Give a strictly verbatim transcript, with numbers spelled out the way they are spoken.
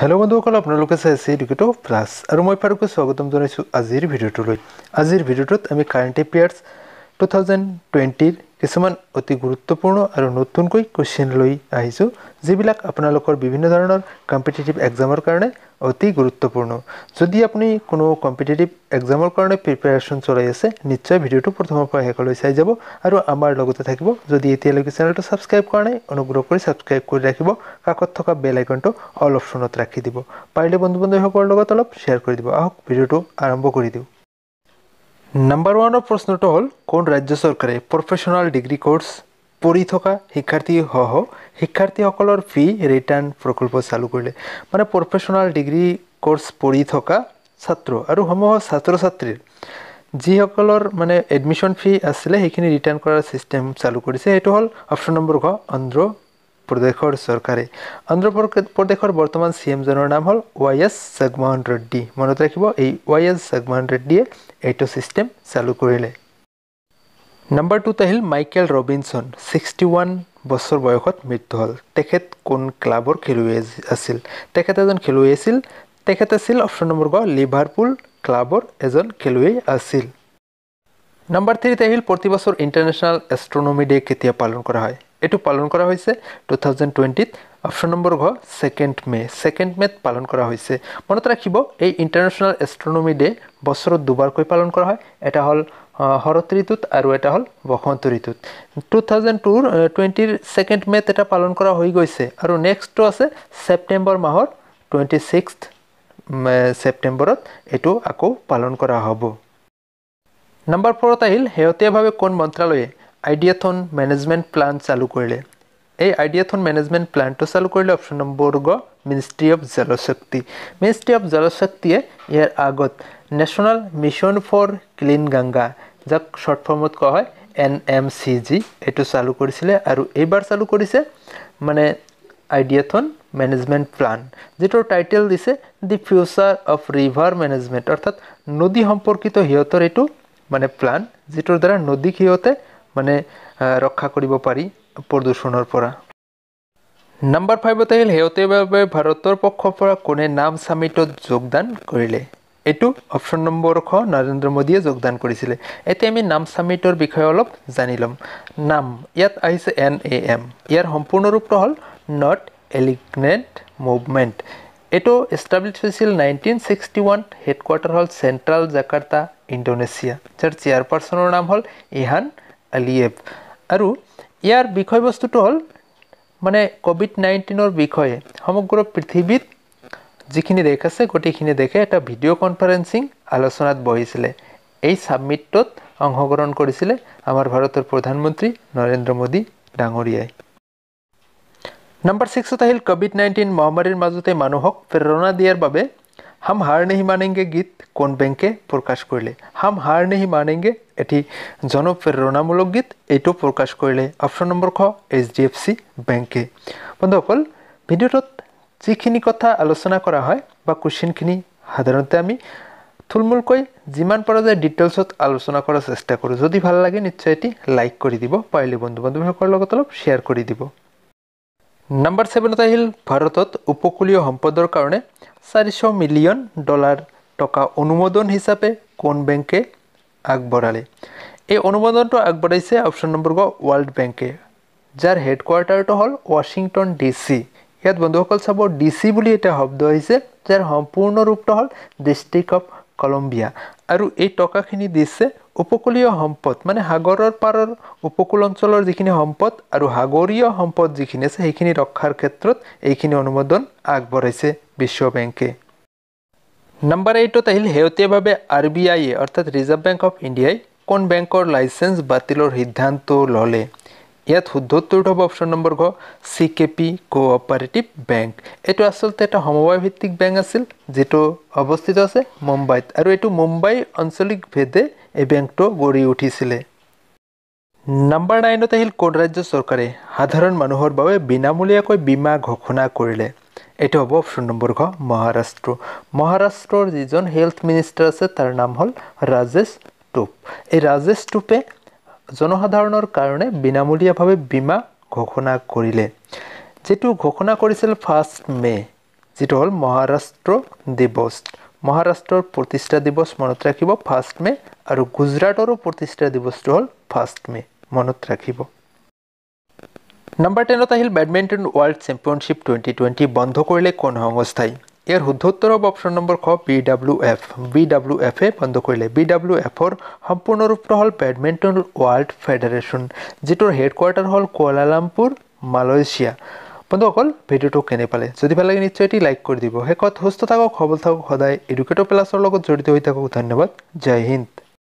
Hello' বন্ধুসকল, আপোনালোকে চাই আছে এডুকেটো প্লাছ আৰু মই ফাৰুকে স্বাগতম জনাইছোঁ আজিৰ ভিডিঅ'টোলৈ। আজিৰ ভিডিঅ'টোত আমি কাৰেণ্ট এফেয়াৰ্ছ টু থাউজেণ্ড টুৱেণ্টিৰ কিছুমান অতি গুৰুত্বপূৰ্ণ আৰু নতুনকৈ কুৱেশ্যন লৈ আহিছোঁ, যিবিলাক আপোনালোকৰ বিভিন্ন ধৰণৰ কম্পিটিটিভ এক্সামৰ কাৰণে অতি গুৰুত্বপূৰ্ণ। যদি আপুনি কোনো কম্পিটিটিভ এক্সামৰ কাৰণে প্ৰিপেৰেশ্যন চলাই আছে, নিশ্চয় ভিডিঅ'টো প্ৰথমৰ পৰা শেষলৈ চাই যাব আৰু আমাৰ লগতে থাকিব। যদি এতিয়ালৈকে চেনেলটো ছাবস্ক্ৰাইব কৰা নাই, অনুগ্ৰহ কৰি ছাবস্ক্ৰাইব কৰি ৰাখিব, কাষত থকা বেল আইকনটো অল অপশ্যনত ৰাখি দিব, পাৰিলে বন্ধু বান্ধৱীসকলৰ লগত অলপ শ্বেয়াৰ কৰি দিব। আহক, ভিডিঅ'টো আৰম্ভ কৰি দিওঁ। নাম্বাৰ ওৱানৰ প্ৰশ্নটো হ'ল, কোন ৰাজ্য চৰকাৰে প্ৰফেচনেল ডিগ্ৰী কোৰ্চ পঢ়ি থকা শিক্ষাৰ্থীসহ শিক্ষাৰ্থীসকলৰ ফি ৰিটাৰ্ণ প্ৰকল্প চালু কৰিলে? মানে প্ৰফেচনেল ডিগ্ৰী কোৰ্চ পঢ়ি থকা ছাত্ৰ আৰু সমূহ ছাত্ৰ ছাত্ৰীৰ যিসকলৰ মানে এডমিশ্যন ফি আছিলে, সেইখিনি ৰিটাৰ্ণ কৰাৰ ছিষ্টেম চালু কৰিছে। সেইটো হ'ল অপশ্যন নম্বৰ ঘ, অন্ধ্ৰ প্ৰদেশৰ চৰকাৰে। অন্ধ্ৰ প্ৰদেশৰ বৰ্তমান চি এমজনৰ নাম হ'ল ৱাই এছ জগমোহন ৰেড্ডী। মনত ৰাখিব, এই ৱাই এছ জগমোহন ৰেড্ডীয়ে এইটো ছিষ্টেম চালু কৰিলে। নাম্বাৰ টুত আহিল, মাইকেল ৰবিনছন ছিক্সটি ওৱান বছৰ বয়সত মৃত্যু হ'ল। তেখেত কোন ক্লাবৰ খেলুৱৈ আছিল? তেখেত এজন খেলুৱৈ আছিল। তেখেত আছিল অপশ্যন নম্বৰ গ, লিভাৰপুল ক্লাবৰ এজন খেলুৱৈ আছিল। নাম্বাৰ থ্ৰীত আহিল, প্ৰতি বছৰ ইণ্টাৰনেশ্যনেল এষ্ট্ৰনমি ডে কেতিয়া পালন কৰা হয়? এইটো পালন কৰা হৈছে টু থাউজেণ্ড টুৱেণ্টিত, অপশ্যন নম্বৰ ঘ, ছেকেণ্ড মে'। ছেকেণ্ড মে'ত পালন কৰা হৈছে। মনত ৰাখিব, এই ইণ্টাৰনেশ্যনেল এষ্ট্ৰনমি ডে বছৰত দুবাৰকৈ পালন কৰা হয়। এটা হ'ল শৰৎ ঋতুত আৰু এটা হ'ল বসন্ত ঋতুত। টু থাউজেণ্ড টুৰ টুৱেণ্টিৰ ছেকেণ্ড মে'ত এটা পালন কৰা হৈ গৈছে আৰু নেক্সটটো আছে ছেপ্টেম্বৰ মাহৰ টুৱেণ্টি ছিক্স ছেপ্টেম্বৰত এইটো আকৌ পালন কৰা হ'ব। নাম্বাৰ ফ'ৰত আহিল, শেহতীয়াভাৱে কোন মন্ত্ৰালয়ে আইডিয়াথন মেনেজমেণ্ট প্লান চালু কৰিলে? এই আইডিয়াথন মেনেজমেণ্ট প্লানটো চালু কৰিলে অপশ্যন নম্বৰ গ, মিনিষ্ট্ৰি অফ জলশক্তি। মিনিষ্ট্ৰি অফ জলশক্তিয়ে ইয়াৰ আগত national mission for clean Ganga, যাক শ্বৰ্ট ফৰ্মত কোৱা হয় এন এম চি জি, এইটো চালু কৰিছিলে আৰু এইবাৰ চালু কৰিছে মানে আইডিয়াথন মেনেজমেণ্ট প্লান, যিটোৰ টাইটেল দিছে the future of river management, অৰ্থাৎ নদী সম্পৰ্কিত সিহঁতৰ এইটো মানে প্লান, যিটোৰ দ্বাৰা নদীক সিহঁতে মানে ৰক্ষা কৰিব পাৰি প্ৰদূষণৰ পৰা। নাম্বাৰ ফাইভত আহিল, শেহতীয়াভাৱে ভাৰতৰ পক্ষৰ পৰা কোনে নাম ছামিটত যোগদান কৰিলে? এইটো অপশ্যন নম্বৰ খ, নৰেন্দ্ৰ মোদীয়ে যোগদান কৰিছিলে। এতিয়া আমি নাম ছামিটৰ বিষয়ে অলপ জানি ল'ম। নাম ইয়াত আহিছে এন এ এম, ইয়াৰ সম্পূৰ্ণ ৰূপটো হ'ল not aligned movement. এইটো এষ্টাব্লিছ হৈছিল নাইনটিন ছিক্সটি ওৱান, হেডকোৱাৰ্টাৰ হ'ল চেণ্ট্ৰেল জাকাৰ্তা, ইণ্ডোনেছিয়া, যাৰ চেয়াৰপাৰ্চনৰ নাম হ'ল ইলহাম আলিয়েভ। আৰু ইয়াৰ বিষয়বস্তুটো হ'ল মানে ক'ভিড নাইণ্টিনৰ বিষয়ে সমগ্ৰ পৃথিৱীত যিখিনি দেশ আছে, গোটেইখিনি দেশে এটা ভিডিঅ' কনফাৰেঞ্চিং আলোচনাত বহিছিলে। এই ছাবমিটটোত অংশগ্ৰহণ কৰিছিলে আমাৰ ভাৰতৰ প্ৰধানমন্ত্ৰী নৰেন্দ্ৰ মোদী ডাঙৰীয়াই। নাম্বাৰ ছিক্সত আহিল, ক'ভিড নাইণ্টিন মহামাৰীৰ মাজতে মানুহক প্ৰেৰণা দিয়াৰ বাবে হাম হাৰ নেহি মানেংগে গীত কোন বেংকে প্ৰকাশ কৰিলে? হাম হাৰ নেহি মানেংগে এটি জনপ্ৰেৰণামূলক গীত, এইটো প্ৰকাশ কৰিলে অপশ্যন নম্বৰ খ, এইচ ডি এফ চি বেংকে। বন্ধুসকল, ভিডিঅ'টোত যিখিনি কথা আলোচনা কৰা হয় বা কুৱেশ্যনখিনি সাধাৰণতে আমি থুলমূলকৈ যিমান পৰা যায় ডিটেইলছত আলোচনা কৰাৰ চেষ্টা কৰোঁ। যদি ভাল লাগে, নিশ্চয় এটি লাইক কৰি দিব, পাৰিলে বন্ধু বান্ধৱীসকলৰ লগত অলপ শ্বেয়াৰ কৰি দিব। নাম্বাৰ ছেভেনত আহিল, ভাৰতত উপকূলীয় সম্পদৰ কাৰণে চাৰিশ মিলিয়ন ডলাৰ টকা অনুমোদন হিচাপে কোন বেংকে আগবঢ়ালে? এই অনুমোদনটো আগবঢ়াইছে অপশ্যন নম্বৰ গ, ৱৰ্ল্ড বেংকে, যাৰ হেডকোৱাৰ্টাৰটো হ'ল ৱাশ্বিংটন ডি চি। ইয়াত বন্ধুসকল চাব, ডি চি বুলি এটা শব্দ আহিছে, যাৰ সম্পূৰ্ণ ৰূপটো হ'ল ডিষ্ট্ৰিক্ট অফ কলম্বিয়া। আৰু এই টকাখিনি দিছে উপকূলীয় সম্পদ, মানে সাগৰৰ পাৰৰ উপকূল অঞ্চলৰ যিখিনি সম্পদ আৰু সাগৰীয় সম্পদ যিখিনি আছে, সেইখিনি ৰক্ষাৰ ক্ষেত্ৰত এইখিনি অনুমোদন আগবঢ়াইছে বিশ্ব বেংকে। নাম্বাৰ এইটত আহিল, শেহতীয়াভাৱে আৰ বি আইয়ে, অৰ্থাৎ ৰিজাৰ্ভ বেংক অফ ইণ্ডিয়াই কোন বেংকৰ লাইচেঞ্চ বাতিলৰ সিদ্ধান্ত ল'লে? ইয়াত শুদ্ধ উত্তৰটো হ'ব অপশ্যন নম্বৰ ঘ, C K P cooperative bank. এইটো আচলতে এটা সমবায় ভিত্তিক বেংক আছিল, যিটো অৱস্থিত আছে মুম্বাইত আৰু এইটো মুম্বাই আঞ্চলিক ভেদে এই বেংকটো গঢ়ি উঠিছিলে। নাম্বাৰ নাইনত আহিল, কোন ৰাজ্য চৰকাৰে সাধাৰণ মানুহৰ বাবে বিনামূলীয়াকৈ বীমা ঘোষণা কৰিলে? এইটো হ'ব অপশ্যন নম্বৰ ঘ, মহাৰাষ্ট্ৰ। মহাৰাষ্ট্ৰৰ যিজন হেল্থ মিনিষ্টাৰ আছে, তাৰ নাম হ'ল ৰাজেশ টোপ। এই ৰাজেশ টোপে জনসাধাৰণৰ কাৰণে বিনামূলীয়াভাৱে বীমা ঘোষণা কৰিলে, যিটো ঘোষণা কৰিছিল ফাৰ্ষ্ট মে'। যিটো হ'ল মহাৰাষ্ট্ৰ দিৱস। মহাৰাষ্ট্ৰৰ প্ৰতিষ্ঠা দিৱস মনত ৰাখিব ফাৰ্ষ্ট মে', আৰু গুজৰাটৰো প্ৰতিষ্ঠা দিৱসটো হ'ল ফাৰ্ষ্ট মে', মনত ৰাখিব। নম্বৰ টেনত আহিল badminton world championship twenty twenty বন্ধ কৰিলে কোন সংস্থাই? ইয়াৰ শুদ্ধ উত্তৰ হ'ব অপশ্যন নম্বৰ খ, B W F. B W এফে বন্ধ কৰিলে। বি ডাব্লিউ এফৰ সম্পূৰ্ণ ৰূপটো হ'ল বেডমিণ্টন ৱৰ্ল্ড ফেডাৰেশ্যন, যিটোৰ হেডকোৱাৰ্টাৰ হ'ল কুৱালালামপুৰ, মালয়েছিয়া। বন্ধুসকল, ভিডিঅ'টো কেনে পালে? যদি ভাল লাগে নিশ্চয় এটি লাইক কৰি দিব। শেষত সুস্থ থাকক, সবল থাকক, সদায় এডুকেটৰ প্লাছৰ লগত জড়িত হৈ থাকক। ধন্যবাদ, জয় হিন্দ।